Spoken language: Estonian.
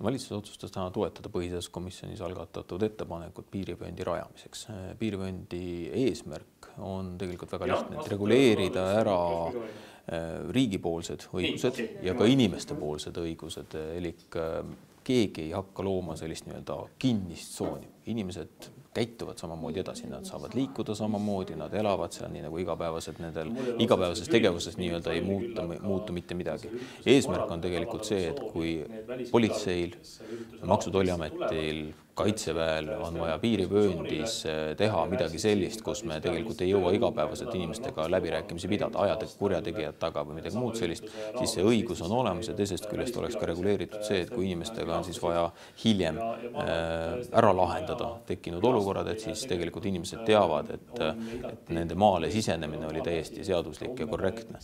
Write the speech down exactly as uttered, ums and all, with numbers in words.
Valitsus otsustas täna toetada põhiseaduskomisjonis algatatud ettepanekut piirivööndi rajamiseks. Piirivööndi eesmärk on tegelikult väga lihtne, et reguleerida ära riigipoolsed õigused ja ka inimestepoolsed õigused. Elik keegi ei hakka looma sellist nii-öelda kinnist tsooni. Inimesed käituvad samamoodi edasi, nad saavad liikuda samamoodi, nad elavad seal nii nagu igapäevased nendel igapäevases tegevuses nii-öelda ei muuta, muutu mitte midagi. Eesmärk on tegelikult see, et kui politseil, Maksu- ja Tolliametil, Kaitseväel on vaja piirivööndis teha midagi sellist, kus me tegelikult ei jõua igapäevaselt inimestega läbirääkimisi pidada, ajada kurjategijad taga või midagi muud sellist, siis see õigus on olemas ja teisest küljest oleks ka reguleeritud see, et kui inimestega on siis vaja hiljem ära lahendada tekkinud olukorrad, et siis tegelikult inimesed teavad, et, et nende maale sisenemine oli täiesti seaduslik ja korrektne.